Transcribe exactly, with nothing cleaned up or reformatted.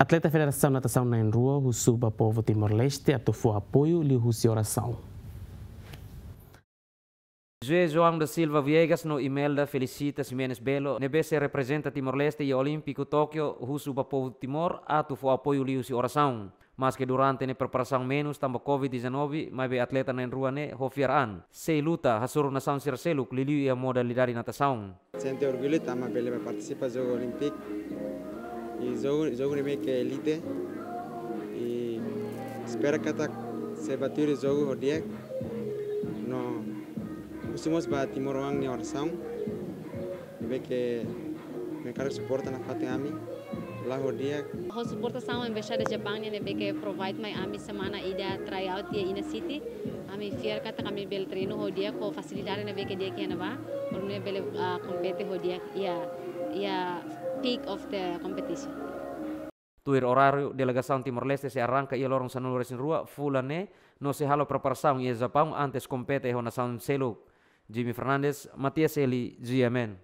Atleta Federasaun Natasaun na'in-rua husu ba povu Timor-Leste atu fó apoiu liuhusi orasaun. José João da Silva Viegas no Imelda Felicita Ximenes Belo, ne'ebé sei reprezenta Timor-Leste iha Olímpiku Tókio, husu ba povu Timor atu fó apoiu liuhusi orasaun. Maske durante ne'e preparasaun menus tanba Covid dezanove, maibé atleta na'in-rua ne'e ho fiar an sei luta hasoru nasaun sira seluk liuliu iha modalidade natasaun. Sente orgullu tanba bele ba partisipa Jogu Olímpiku. I jogu, jogu ne'ebé ke elite. I espera katak sei ba tuir jogu ho di'ak. No husu mós ba timoroan nia orasaun. Ne'ebé ke merkadu suporta nafatin ami. La'o ho di'ak. Ho suportasaun Embaixada Japaun nian ne'ebé ke provide mai ami semana ida tryout iha Iina City. Ami fiar katak ami bele treinu ho di'ak ho fasilidade ne'ebé ke di'ak iha ne'ebá. Para nune'e bele, ah, kompete ho di'ak iha, iha peak of the competition. Tuir oráriu, delegasaun Timor-Leste sei arranka iha loron sanulu-resin-rua fulan ne'e, no sei halo preparasaun iha Japaun antes kompete ho nasaun seluk. Jimmy Fernandes, Matias Eli, G M N.